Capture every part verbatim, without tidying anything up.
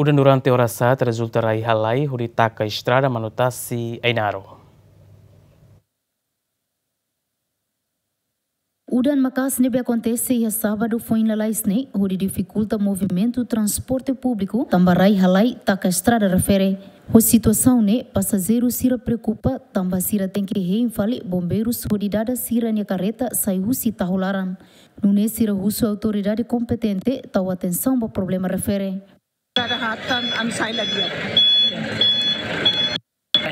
Durante oras haat rezulta rai-halai hodi taka estrada Manutasi Ainaro. Udan maka'as ne'ebé akontese iha sábadu foin lalais ne'e hodi difikulta movimentu transporte públiku tanba rai-halai taka estrada refere. Ho situasaun ne'e, pasajeru sira preokupa tanba sira tenke hein fali bombeirus hodi dada sira-nia karreta sai husi tahu laran. Nune'e sira husu autoridade kompetente tau atensaun ba problema refere. Dada hatan ami sai la di'ak.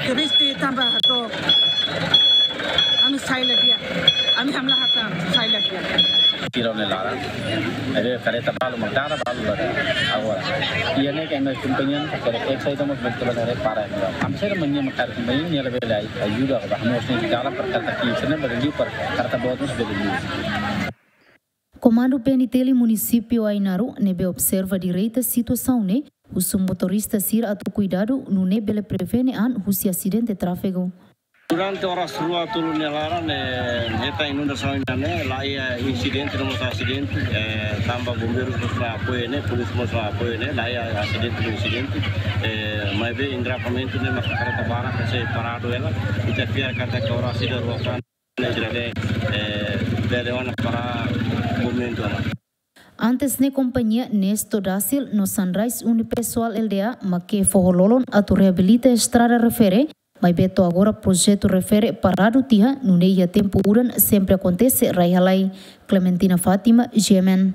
Triste tanba hato'o ami sai la di'ak. Ami hamlaha tan sai la di'ak. Tira ne laran. Ada karreta balu mak dada balu la. Agora. Iha ne'e ke ami kompañia, karreta sai tamo betul betul repara. Ami sai manya mak karreta kompañia, nia labele ajuda ba hamos ne jalan per karreta kiri sana bele liu per karreta boot mós bele liu. Komandu P N T L Munisípiu Ainaro ne'ebé observa direta situasaun ne'e husu motorista sira atu kuidadu nune'e bele prevene an husi asidente tráfegu. Durante oras rua tolu nia laran, eh, hetan inundasaun ne'e, la iha insidente, no mós asidente, eh, tanba bombeirus mós la apoia ne'e, polísia mós la apoia ne'e, la iha asidente, no insidente, eh, maibé engarrafamentu ne'e maka karreta barak sei paradu hela, ita fiar katak oras ida rua tan. Ne'e, eh, bele ona para movimentu ona. Antes ne'e kompañia Nesto Dasil no Sunrise Unipessoal L D A mak foho lolon atu reabilita estrada refere, maibé to'o agora projetu refere paradu tiha, nune'e iha tempu udan sempre akontese rai-halai. Clementina Fátima, G M N.